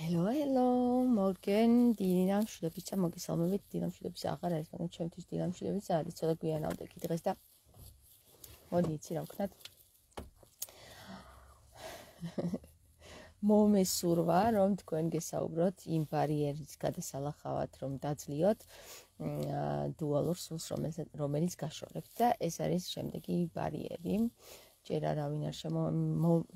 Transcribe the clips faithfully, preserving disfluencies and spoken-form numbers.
Hello, hello, morgen, დინამ შვილებიცა მოგესალმებით, დინამ შვილებიცა აღარ არის, მაგრამ ჩემთვის დინამ შვილებიცა არის, ცოტა გვიანავდექი დღეს და მოდი იცი რა ვქნათ. მომესურვა, რომ თქვენ გესაუბროთ იმ ბარიერის გადასალახავად, რომ დაძლიოთ დუალურ სულს, რომელიც გაშორებთ და ეს არის შემდეგი ბარიერი. ჯერ არავინ არ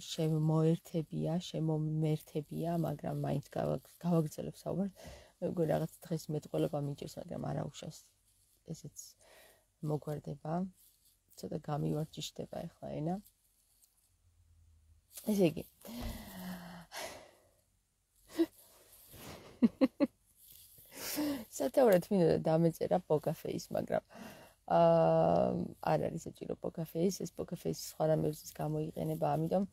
შემოერთებია, შემომერთებია, მაგრამ მაინც გავაგრძელებ საუბარს. მეგონი რაღაც დღეს მეტყველება მიჭირს, მაგრამ არა უშავს. ესეც მოგვარდება. ცოტა გამივარჯიშდება ახლა ენა. ესე იგი. სათაურად მინდოდა დამეწერა პოკაფეის, მაგრამ აა არ არის საჭირო პოკაფეის, ეს პოკაფეის სხვა რამებზეც გამოიყენება, ამიტომ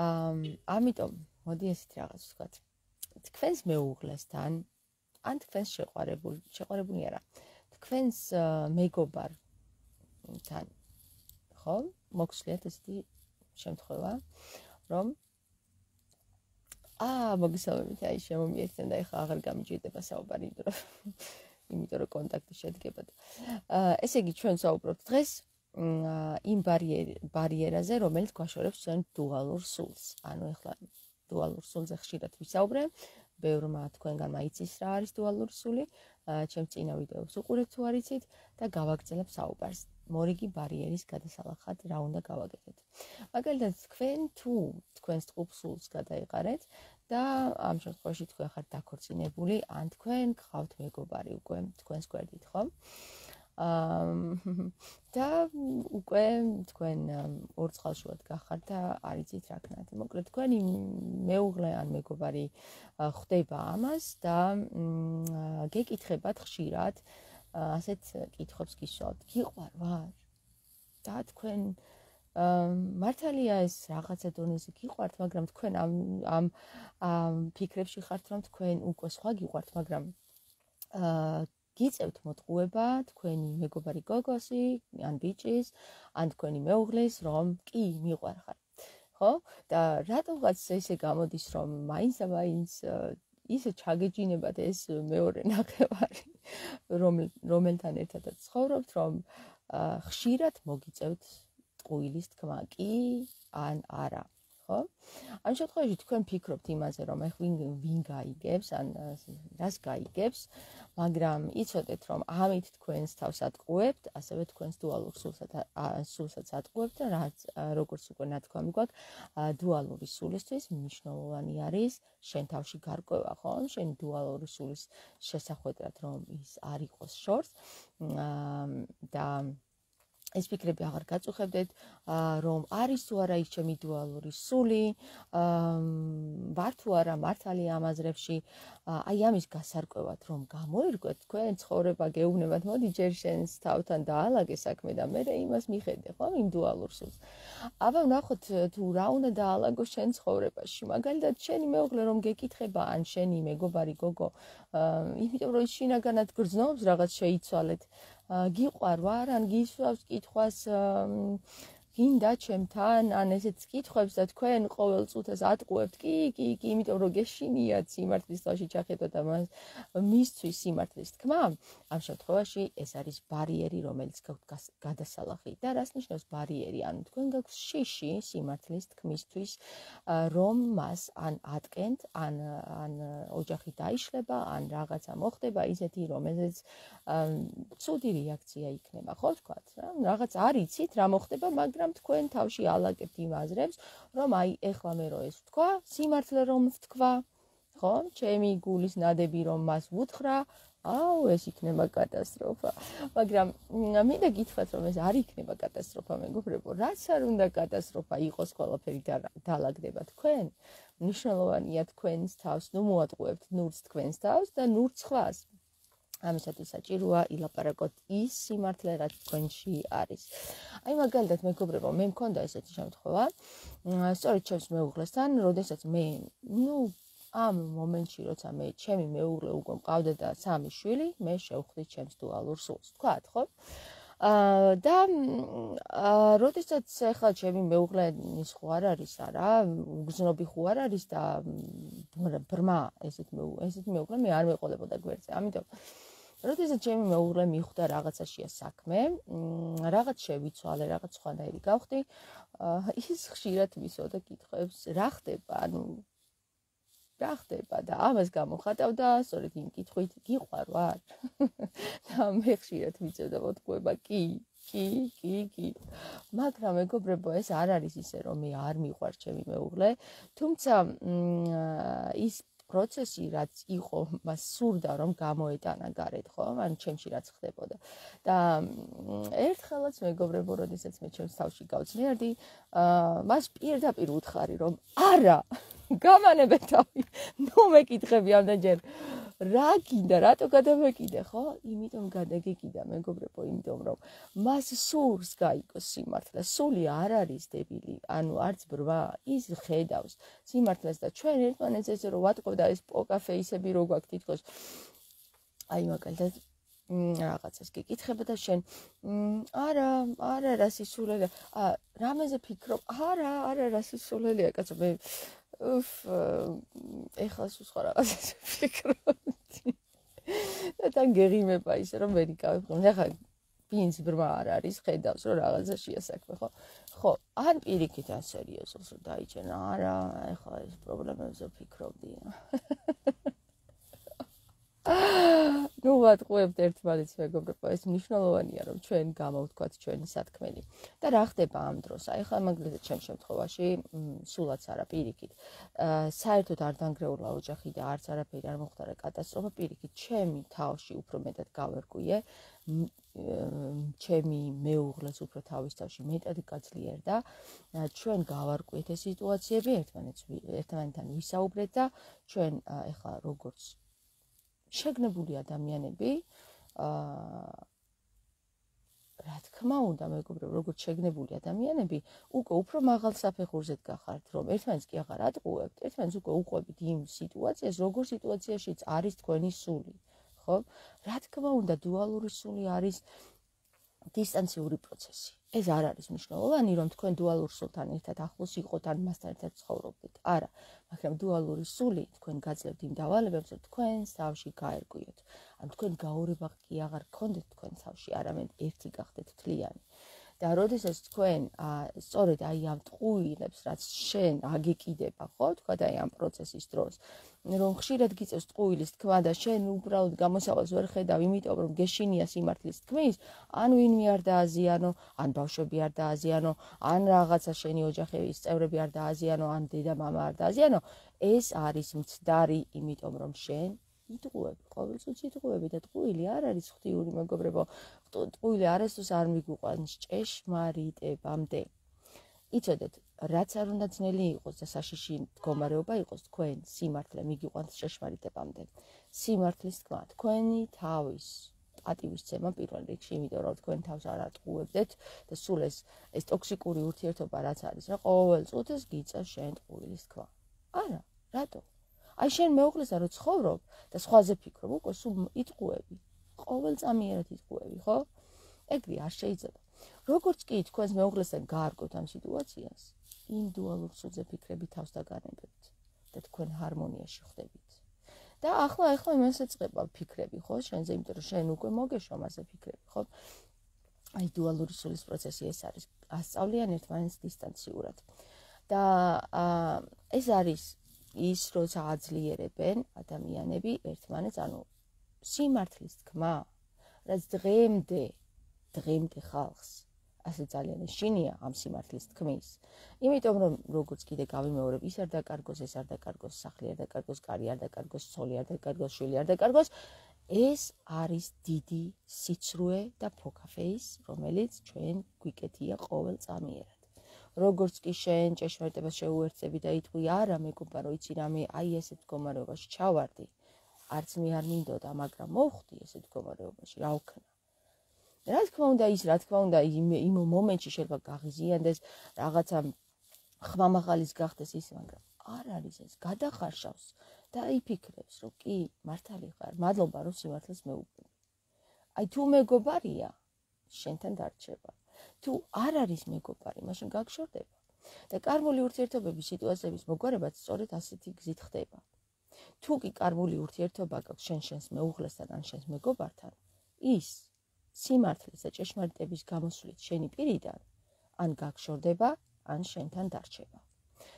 აა ამიტომ მოდი ესეთ რაღაც ვთქვათ. თქვენს მეუღლესთან, ან თქვენს შეყვარებულ, შეყვარებული არა. თქვენს მეგობართან, ხო? მოგხსლიათ ესეთი შემთხვევა, რომ აა მოგესალმებით, აი შემომიერთდნენ და ეხლა აღარ გამიჭირდება საუბარი, იმიტომ რომ კონტაქტი შედგებოდა. ესე იგი, ჩვენ საუბრობთ დღეს იმ ბარიერაზე, რომელიც გვაშორებს ჩვენ დუალურ სულს. ანუ ეხლა დუალურ სულზე ხშირად ვისაუბრე, ბევრმა თქვენგანმა იცის რა არის დუალური სული, ჩემს წინა ვიდეოს უყურებთ თუ არ იცით და გავაგრძელებ საუბარს. მორიგი ბარიერის გადასალახად რა უნდა გავაკეთოთ. მაგალითად, თქვენ თუ თქვენს ტყუპ სულს გადაიყარეთ და ამ შემთხვევაში თქვენ ხართ დაქორწინებული, ან თქვენ გყავთ მეგობარი უკვე თქვენს გვერდით, ხო? აა და უკვე თქვენ ორ წყალშუად გახართ და არ იცით რა ქნათ. მოკლედ, თქვენი მეუღლე ან მეგობარი ხვდება ამას და გეკითხებათ ხშირად ასეთ კითხვებს გისვათ. გიყვარ ვარ? და თქვენ მართალია ეს რაღაცა დონეზე გიყვართ, მაგრამ თქვენ ამ ამ ფიქრებში ხართ, რომ თქვენ უკვე სხვა გიყვართ, მაგრამ აა გიწევთ მოტყუება თქვენი მეგობარი გოგოსი, ან ბიჭის, ან თქვენი მეუღლის, რომ კი მიყვარხარ. ხო? და რატომღაც ესე გამოდის, რომ მაინც და მაინც ისე ჩაგეჯინებათ ეს მეორე ნახევარი, რომელთან ერთადაც ცხოვრობთ, რომ ხშირად მოგიწევთ ტყუილის თქმა, კი ან არა, ხო? ამ შემთხვევაში თქვენ ფიქრობთ იმაზე, რომ ეხ ვინ გაიგებს, ან რას გაიგებს, მაგრამ იცოდეთ, რომ ამით თქვენს თავს ატყუებთ, ასევე თქვენს დუალურ სულსაც ატყუებთ და რაც როგორც უკვე ნათქვამი გვაქვს, დუალური სულისთვის მნიშვნელოვანი არის შენ თავში გარკვევა, ხო? შენ დუალური სულის შესახვედრად, რომ ის არ იყოს შორს და ეს ფიქრები აღარ გაწუხებდეთ, რომ არის თუ არა ის ჩემი დუალური სული, ვარ თუ არა მართალი ამ აზრებში, აი ამის გასარკვევად, რომ გამოირკვეთ, თქვენ ცხოვრება გეუბნებათ, მოდი ჯერ შენს თავთან დაალაგე საქმე და მე იმას მიხედე, ხო, იმ დუალურ სულს. აბა ვნახოთ თუ რა უნდა დაალაგო შენ ცხოვრებაში. მაგალითად, შენი მეუღლე რომ გეკითხება, ან შენი მეგობარი გოგო, იმიტომ რომ შინაგანად გრძნობს რაღაც შეიცვალეთ. გიყვარ ვარ, ან გისვავს კითხვას გინდა ჩემთან, ან ესეც კითხვებს და თქვენ ყოველ წუთას ატყუებთ, კი, კი, კი, იმიტომ რომ გეშინიათ სიმართლის თავში ჩახედოთ და მას მისთვის სიმართლის თქმა, ამ შემთხვევაში ეს არის ბარიერი, რომელიც გაქვთ გადასალახი. და რას ნიშნავს ბარიერი? ანუ თქვენ გაქვთ შიში სიმართლის თქმისთვის, რომ მას ან ატკენთ, ან ან ოჯახი დაიშლება, ან რაღაცა მოხდება ისეთი, რომელზეც ცუდი რეაქცია იქნება, ხო ვთქვათ, რა? რაღაც არ იცით რა მოხდება, მაგრამ თქვენ თავში ალაგებთ იმ აზრებს, რომ აი ეხლა მე რო ეს ვთქვა, სიმართლე რომ ვთქვა, ხო? ჩემი გულის ნადები რომ მას ვუთხრა, აუ ეს იქნება კატასტროფა. მაგრამ მინდა გითხრათ, რომ ეს არ იქნება კატასტროფა, მეგობრებო, რაც არ უნდა კატასტროფა იყოს, ყველაფერი დაალაგდება თქვენ. მნიშვნელოვანია თქვენს თავს, ნუ მოატყუებთ ნურს თქვენს თავს და ნურს სხვას. ამისათვის საჭიროა ილაპარაკოთ ის სიმართლე, რაც თქვენში არის. აი მაგალითად, მეგობრებო, მე მქონდა ესეთი შემთხვევა, სწორედ ჩემს მეუღლესთან, როდესაც მე, ნუ ამ მომენტში, როცა მე ჩემი მეუღლე უკვე მყავდა და სამი შვილი, მე შევხვდი ჩემს დუალურ სულს, თქვათ, ხო? და როდესაც ახლა ჩემი მეუღლენის ხო არ არის არა, უგზნობი ხო არ არის და ბრმა ესეთ ესეთ მეუღლე მე არ მეყოლებოდა გვერდზე. ამიტომ როდესაც ჩემი მეუღლე მიხვდა რაღაცაშია საქმე, რაღაც შევიცვალე, რაღაც სხვანაირი გავხდი, ის ხშირად მისვოდა კითხვებს, რა ხდება, ანუ რა ხდება და ამას გამოხატავდა, სწორედ იმ კითხვით, გიყვარ ვარ? და მე ხშირად მიწევდა მოტყუება, კი, კი, კი, კი. მაგრამ მეგობრებო, ეს არ არის ისე, რომ მე არ მიყვარ ჩემი მეუღლე, თუმცა ის პროცესი რაც იყო, მას სურდა რომ გამოეტანა გარეთ, ხო? ან ჩემში რაც ხდებოდა. და ერთხელაც მეგობრებო, როდესაც მე ჩემს თავში გავწნიარდი, მას პირდაპირ უთხარი რომ არა, გამანებე თავი. ნუ მეკითხები ამდენჯერ რა გინდა, რატო გადამეკიდე, ხო? იმიტომ გადაგეკიდა, მეგობრებო, იმიტომ რომ მას სურს გაიგოს სიმართლე. სული არ არის დებილი, ანუ არც ბრმა, ის ხედავს სიმართლეს და ჩვენ ერთმანეთს ესე რომ ვატყობ და ეს პოკა-ფეისები რო გვაქვს თითქოს. აი მაგალითად რაღაცას გიკითხება და შენ არა, არა რა სისულელია. ა რამეზე ფიქრობ? არა, არა რა სისულელია, კაცო, მე უფ, ეხლა სულ სხვა რაღაცას ვფიქრობდი. და თან გეღიმება ისე რომ ვერ იკავებ. ახლა ბინს ბრმა არ არის, ხედავს რომ რაღაცაშია საქმე, ხო? ხო, ან პირიქით ან სერიოზულს რომ დაიჭერა, არა, ახლა ეს პრობლემებზე ვფიქრობდი. ნუ ვატყუებთ ერთმანეთს, მეგობრებო, ეს მნიშვნელოვანია რომ ჩვენ გამოვთქვათ ჩვენი სათქმელი. და რა ხდება ამ დროს? აი ხა მაგალითად ჩემ შემთხვევაში, სულაც არა პირიქით. საერთოდ არ დანგრეულა ოჯახი და არც არაფერი არ მოხდა კატასტროფა, პირიქით, ჩემი თავში უფრო მეტად გავერკვიე, ჩემი მეუღლეს უფრო თავის თავში მეტად გაძლიერდა. ჩვენ გავარკვიეთ ეს სიტუაციები, ერთმანეთს ერთმანეთთან ვისაუბრეთ და ჩვენ ეხლა როგორც შეგნებული ადამიანები, აა რა თქმა უნდა, მეგობრებო, როგორც შეგნებული ადამიანები, უკვე უფრო მაღალ საფეხურზე გახართ, რომ ერთმანეთს კი აღარ ატყუებთ, ერთმანეთს უკვე უყვებით იმ სიტუაციას, როგორ სიტუაციაშიც არის თქვენი სული, ხო? რა თქმა უნდა, დუალური სული არის დისტანციური პროცესი. ეს არ არის მნიშვნელოვანი, რომ თქვენ დუალურ სულთან ერთად ახლოს იყოთ ან მასთან ერთად ცხოვრობდეთ. არა, მაგრამ დუალური სული თქვენ გაძლევთ იმ დავალებებს, რომ თქვენს თავში გაერკვიოთ. ან თქვენ გაურება კი აღარ გქონდეთ თქვენ თავში, არამედ ერთი გახდეთ თლიანი. და როდესაც თქვენ სწორედ აი ამ ტყუილებს, რაც შენ აგეკიდება, ხო, თქვა და აი ამ პროცესის დროს, რომ ხშირად გიწევს ტყუილის თქმა და შენ უბრალოდ გამოსავალს ვერ ხედავ, იმიტომ რომ გეშინია სიმართლის თქმის, ან ვინმე არ დააზიანო, ან ბავშვები არ დააზიანო, ან რაღაცა შენი ოჯახის წევრები არ დააზიანო, ან დედა მამა არ დააზიანო, ეს არის მცდარი, იმიტომ რომ შენ იტყუები, ყოველთვის იტყუები და ტყუილი არ არის ღვთიური, მეგობრებო. ტყუილი არასდროს არ მიგვიყვანს ჭეშმარიტებამდე. იცოდეთ, რაც არ უნდა ძნელი იყოს და საშიში მდგომარეობა იყოს, თქვენ სიმართლე მიგიყვანს ჭეშმარიტებამდე. სიმართლის თქმა, თქვენი თავის პატივისცემა პირველ რიგში, იმიტომ რომ თქვენ თავს არ ატყუებდეთ და სულ ეს ეს ტოქსიკური ურთიერთობა რაც არის, რა ყოველ წუთს გიწევს შენ ტყუილის თქმა. არა, რატო? აი შენ მეუღლესთან რო ცხოვრობ და სხვაზე ფიქრობ, უკვე სულ იტყუები. ყოველწამიერად იტყუები, ხო? ეგრე არ შეიძლება. როგორც კი თქვენს მეუღლესთან გაარკვევთ ამ სიტუაციას, იმ დუალურ სულზე ფიქრები თავს დაგანებებთ და თქვენ ჰარმონიაში ხდებით. და ახლა ახლა იმასაც წება ფიქრები, ხო? შენზე, იმიტომ რომ შენ უკვე მოგეშვა მასე ფიქრები, ხო? აი დუალური სულის პროცესი ეს არის. ასწავლიან ერთმანეთს დისტანციურად. და ეს არის ის, როცა აძლიერებენ ადამიანები ერთმანეთს, ანუ სიმართლის თქმა, რაც დღემდე, დღემდე ხალხს ასე ძალიან ეშინია ამ სიმართლის თქმის. იმიტომ რომ როგორც კიდე გავიმეორებ, ის არ დაკარგოს, ეს არ დაკარგოს, სახლი არ დაკარგოს, კარი არ დაკარგოს, ცოლი არ დაკარგოს, შვილი არ დაკარგოს. ეს არის დიდი სიცრუე და ფოქაფეის, რომელიც ჩვენ გვიკეთია ყოველწამიერად. როგორც კი შენ ჭეშმარიტებას შეუერთდები და იტყვი, არა მეგობარო, იცი რა, მე აი ესეთ მდგომარეობაში ჩავარდი, არც მე არ მინდოდა, მაგრამ მოვხდი ესეთ მდგომარეობაში, რა ვქნა. რა თქმა უნდა, ის რა თქმა უნდა, იმ მომენტში შეიძლება გაღიზიანდეს, რაღაცა ხმამაღალის გახდეს ის, მაგრამ არ არის ეს, გადახარშავს და იფიქრებს, რომ კი, მართალი ხარ, მადლობა რომ სიმართლეს მეუბნები. აი თუ მეგობარია, შენთან დარჩება. თუ არ არის მეგობარი, მაშინ გაგშორდება. და კარმული ურთიერთობების სიტუაციების მოგვარებაც სწორედ ასეთი გზით ხდება. თუ კი კარმული ურთიერთობა გაქვს შენ შენს მეუღლესთან ან შენს მეგობართან, ის სიმართლის და ჭეშმარიტების გამოსვლით შენი პირიდან ან გაგშორდება, ან შენთან დარჩება.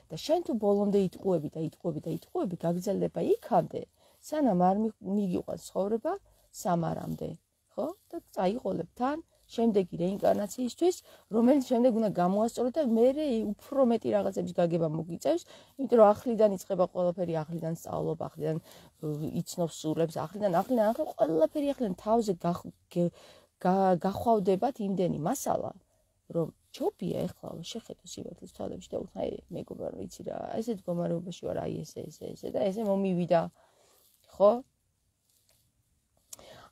და შენ თუ ბოლომდე იტყუები და იტყუები და იტყუები, გაგრძელდება იქამდე, სანამ არ მიგიყვანს ცხოვრება სამარამდე, ხო? და წაიყოლებ თან შემდეგი რეინკარნაციისთვის, რომელიც შემდეგ უნდა გამოასწორო და მერე უფრო მეტი რაღაცების გაგება მოგიწევს, იმიტომ რომ ახლიდან იწყება ყველაფერი, ახლიდან სწავლობ, ახლიდან იცნობს სულებს, ახლიდან, ახლიდან, ახლიდან ყველაფერი ახლიდან თავზე გახვავდებათ იმდენი მასალა, რომ ჯობია ეხლა შეხედო სიმართლის თვალებში და უთხარ, აი მეგობარ, ვიცი რა, ესე მდგომარეობაში ვარ, აი ესე, ესე, ესე და ესე მომივიდა, ხო?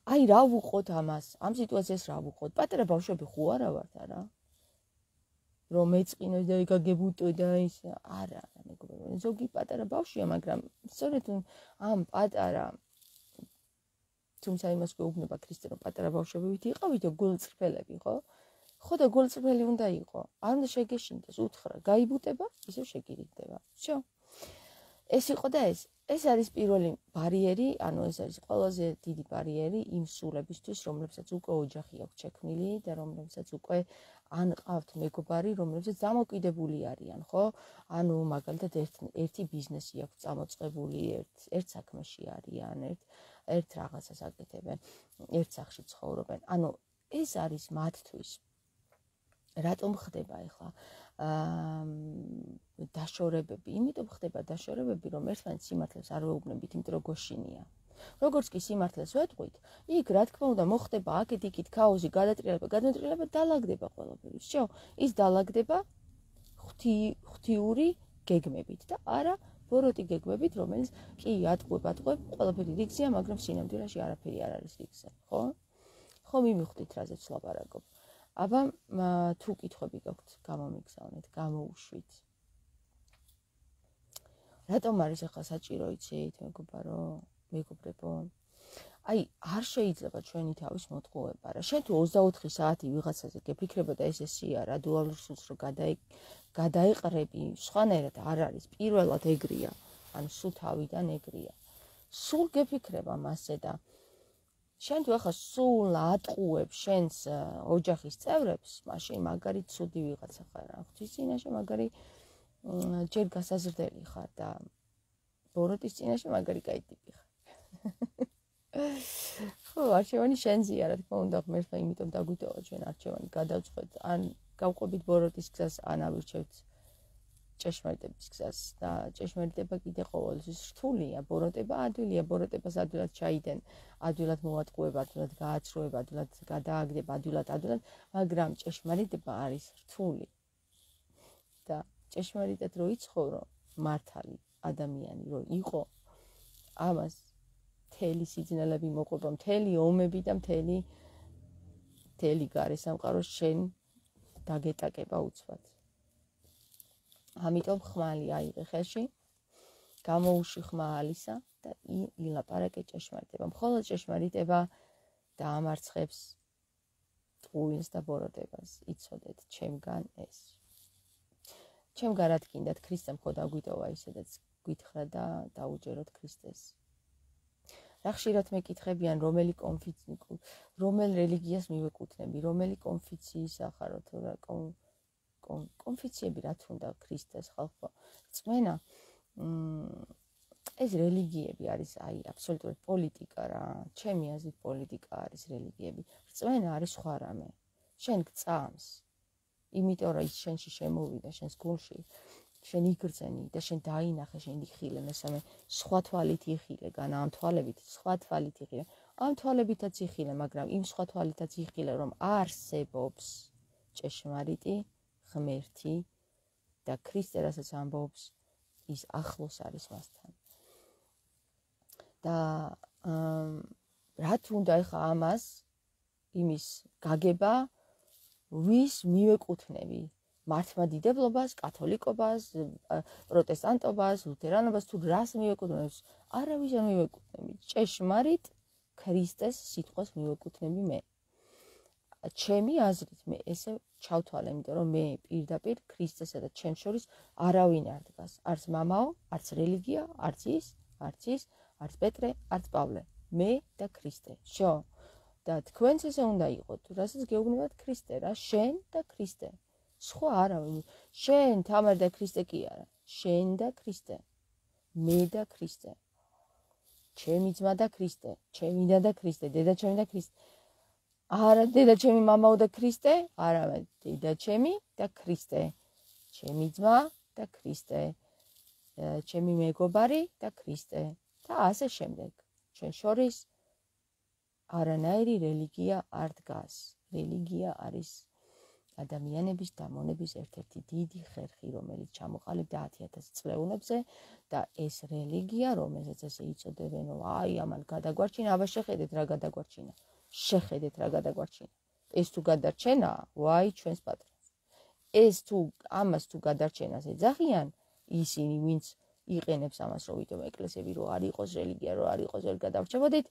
აი რა ვუყოთ ამას, ამ სიტუაციას რა ვუყოთ? პატარა ბავშვები ხო არა ვართ არა? რომ ეწყინო და გაგებუტო და ის არა, მეგობარ, ზოგი პატარა ბავშვია, მაგრამ სწორედ ამ პატარა თუმცა იმას გვეუბნება ქრისტე, რომ პატარა ბავშვებით იყავით და გულწრფელები, ხო? ხო და გულწრფელი უნდა იყო. არ უნდა შეგეშინდეს, უთხრა, გაიბუტება, ისევ შეგირიგდება. всё. ეს იყო და ეს. ეს არის პირველი ბარიერი, ანუ ეს არის ყველაზე დიდი ბარიერი იმ სულებისთვის, რომლებსაც უკვე ოჯახი აქვს შექმნილი და რომლებსაც უკვე ან ყავთ მეგობარი, რომლებსაც დამოკიდებული არიან, ხო? ანუ მაგალითად ერთ ერთი ბიზნესი აქვს წამოწყებული, ერთ ერთ საქმეში არიან, ერთ ერთ რაღაცას აკეთებენ, ერთ სახლში ცხოვრობენ. ანუ ეს არის მათთვის. რატომ ხდება ახლა დაშორებები? იმიტომ ხდება დაშორებები, რომ ერთმანეთს სიმართლეს არ ვეუბნებით, იმიტომ რომ გოშინია. როგორც კი სიმართლეს ვეტყვით, იქ რა თქმა უნდა მოხდება აქეთ-იქით ქაოსი, გადატრიალება, გადატრიალება, დალაგდება ყველაფერი. всё, ის დალაგდება ღვთიური გეგმებით და არა ბოროტი გეგმებით, რომელიც კი ატყუებ, ატყუებ, ყველაფერი რიგზეა, მაგრამ სინამდვილეში არაფერი არ არის რიგზე, ხო? ხო მიმიხვდით, რაზეც ვლაპარაკობ. აბა თუ კითხვები გაქვთ, გამომიგზავნეთ, გამოუშვით. რატომ არის ახლა საჭირო იცით, მეგობარო, მეგობრებო? აი, არ შეიძლება ჩვენი თავის მოტყუება რა. შენ თუ ოცდაოთხი საათი ვიღაცაზე გეფიქრება და ეს ესია რა, დუალურ სულს რო გადაეყრები, სხვანაირად არ არის. პირველად ეგრეა, ანუ სულ თავიდან ეგრეა. სულ გეფიქრება მასზე და შენ თუ ახლა სულ ატყუებ შენს ოჯახის წევრებს, მაშინ მაგარი ცუდი ვიღაცა ხარ რა. ღვთის წინაშე მაგარი ჯერ გასაზრდელი ხარ და ბოროტის წინაშე მაგარი კაი ტიპი ხარ. ხო, არჩევანი შენზეა, რა თქმა უნდა, ღმერთმა იმიტომ დაგვიტოვა ჩვენ არჩევანი გადავწყვეტ, ან გავყვებით ბოროტის გზას, ან ავირჩევთ ჭეშმარიტების გზას და ჭეშმარიტება კიდე ყოველთვის რთულია, ბოროტება ადვილია, ბოროტებას ადვილად ჩაიდენ, ადვილად მოვატყუებ, ადვილად გააცრუებ, ადვილად გადააგდებ, ადვილად, ადვილად, მაგრამ ჭეშმარიტება არის რთული. და ჭეშმარიტად რო იცხოვრო, მართალი ადამიანი რო იყო, ამას მთელი სიძნელები მოყვება, მთელი ომები და მთელი მთელი გარესამყარო შენ დაგეტაკება უცბად. ამიტომ ხმალი აიღე ხელში, გამოუში ხმა ალისა და ილაპარაკე ჭეშმარიტება. მხოლოდ ჭეშმარიტება დაამარცხებს ტყუილს და ბოროტებას. იცოდეთ ჩემგან ეს. ჩემგან რა თქინდათ, ქრისტემ ხო დაგვიტოვა ისედაც გითხრა და დაუჯეროთ ქრისტეს. რა ხშირად მეკითხებიან, რომელი კონფიცი, რომელ რელიგიას მივეკუთვნები, რომელი კონფიციის ახარო თუ რა კონფიციები რა თქონდა ქრისტეს ხალხო. წმენა ეს რელიგიები არის აი აბსოლუტურად პოლიტიკა რა. ჩემი აზრით პოლიტიკა არის რელიგიები. წმენა არის სხვა რამე. შენ გწამს. იმიტომ რომ ის შენში შემოვიდა, შენს გულში, შენ იგრძენი და შენ დაინახე, შენ იხილე, მესამე სხვა თვალით იხილე, განა ამ თვალებით სხვა თვალით იხილე. ამ თვალებითაც იხილე, მაგრამ იმ სხვა თვალითაც იხილე, რომ არსებობს ჭეშმარიტი ღმერთი და ქრისტე რასაც ამბობს, ის ახლოს არის მასთან. და რა თუნდა ახლა ამას იმის გაგება ვის მივეკუთვნები? მართლმადიდებლობას, კათოლიკობას, პროტესტანტობას, ლუთერანობას თუ რას მივეკუთვნებს? არავის არ მივეკუთვნები. ჭეშმარიტ ქრისტეს სიტყვას მივეკუთვნები მე. ჩემი აზრით მე ესე ჩავთვალე, იმიტომ რომ მე პირდაპირ ქრისტესა და ჩემს შორის არავინ არ დგას. არც მამაო, არც რელიგია, არც ის, არც ის, არც პეტრე, არც პავლე. მე და ქრისტე. შო. და თქვენც ესე უნდა იყოთ, რასაც გეუბნებათ ქრისტე რა, შენ და ქრისტე. სხვა არავინ. შენ თამარ და ქრისტე კი არა. შენ და ქრისტე. მე და ქრისტე. ჩემი ძმა და ქრისტე, ჩემი და და ქრისტე, დედაჩემი და ქრისტე. არა დედაჩემი მამაო და ქრისტე, არამედ დედაჩემი და ქრისტე. ჩემი ძმა და ქრისტე. ჩემი მეგობარი და ქრისტე. და ასე შემდეგ. ჩვენ შორის არანაირი რელიგია არ დგას. რელიგია არის ადამიანების დამონების ერთ-ერთი დიდი ხერხი, რომელიც ჩამოყალიბდა ათი ათასი წლეულებზე და ეს რელიგია, რომელსაც ესე იწოდებენ, აი ამან გადაგვარჩინა, აბა შეხედეთ რა გადაგვარჩინა. შეხედეთ რა გადაგვარჩინა. ეს თუ გადარჩენაა, ვაი ჩვენს პატრონს. ეს თუ ამას თუ გადარჩენას ეძახიან ისინი, ვინც იყენებს ამას, რომ ვიდრე ეკლესიები რო არ იყოს რელიგია, რო არ იყოს ვერ გადავრჩებოდით,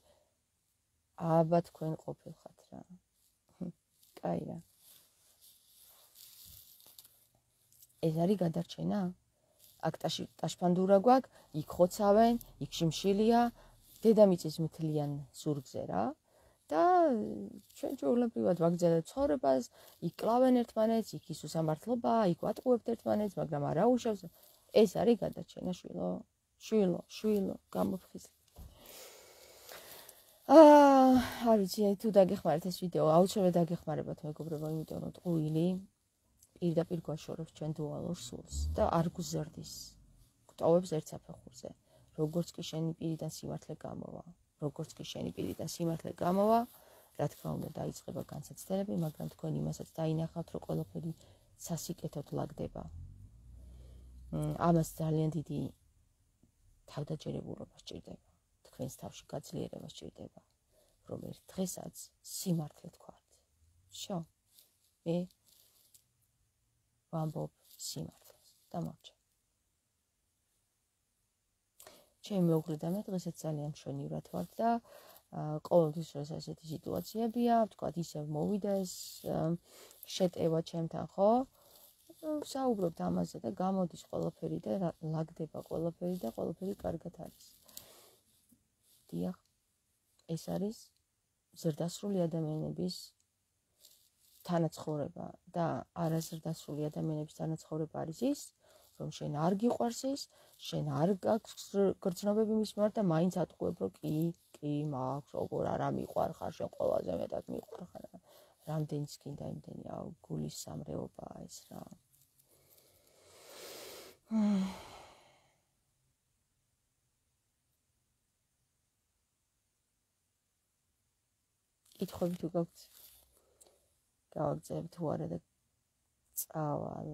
აბა თქვენ ყოფილხართ რა. კაი რა. ეს არის გადარჩენა? აქ ტაშფანდურა გვაქვს, იქ ხოცავენ, იქ შიმშილია, დედამიწის მთლიან ზურგზე რა. და ჩვენ ჩვეულებრივად ვაგრძელებთ ცხოვრებას, იქ კლავენ ერთმანეთს, იქ ის უსამართლობაა, იქ ვატყუებთ ერთმანეთს, მაგრამ არა უშავს. ეს არის გადარჩენა შვილო, შვილო, შვილო, გამოფხიზლი. აა, არ ვიცი, თუ დაგეხმარეთ ეს ვიდეო, აუცილებლად დაგეხმარებათ მეგობრებო, იმიტომ რომ ტყუილი პირდაპირ გვაშორებს ჩვენ დუალურ სულს და არ გუზრდის. გვტოვებს ერთ საფეხურზე. როგორც კი შენი პირიდან სიმართლე გამოვა, როგორც კი შენი პირიდან სიმართლე გამოვა, რა თქმა უნდა დაიწყება განსაცდელები, მაგრამ თქვენ იმასაც დაინახავთ, რომ ყველაფერი სასიკეთოდ ლაგდება. ამას ძალიან დიდი თავდაჯერებულობა სჭირდება. თქვენს თავში გაძლიერება სჭირდება, რომ ერთ დღესაც სიმართლე თქვათ. შო, მე ვამბობ სიმართლეს. დამორჩა. ჩემი მეუღლე და მე დღესაც ძალიან მშვენივრად ვართ და ყოველთვის როცა ესეთი სიტუაციებია, ვთქვათ, ისევ მოვიდა ეს შეტევა ჩემთან, ხო? საუბრობთ ამაზე და გამოდის ყველაფერი და ლაგდება ყველაფერი და ყველაფერი კარგად არის. დიახ, ეს არის ზრდასრული ადამიანების თანაცხოვრება და არაზრდასრული ადამიანების თანაცხოვრება არის ის, რომ შენ არ გიყვარს ის, შენ არ გაქვს გრძნობები მის მიმართ და მაინც ატყუებ, რომ კი, კი, მაქვს, როგორ არა მიყვარ ხარ, შენ ყველაზე მეტად მიყვარ ხარ. რამდენიც გინდა იმდენი, აუ, გულის სამრეობაა ეს რა. კითხვები თუ გაქვთ, გავაგზავნებ თუ არა და წავალ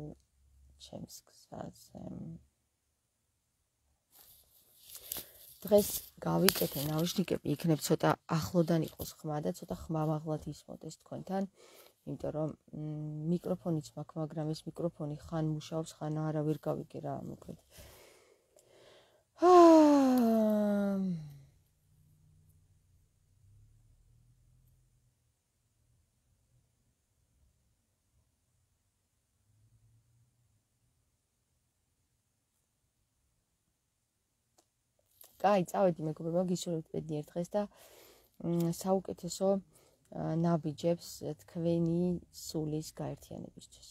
ჩემს გზაზე. დღეს გავიკეთე ნაუშნიკები, იქნებ ცოტა ახლოდან იყოს ხმა და ცოტა ხმამაღლად ისმოდეს თქვენთან, იმიტომ რომ მიკროფონიც მაქვს, მაგრამ ეს მიკროფონი ხან მუშაობს, ხან არა, ვერ გავიგე რა მოკლედ. კაი, წავედი მეგობრებო, გისურვებთ ბედნიერ დღეს და საუკეთესო ნაბიჯებს თქვენი სულის გაერთიანებისთვის.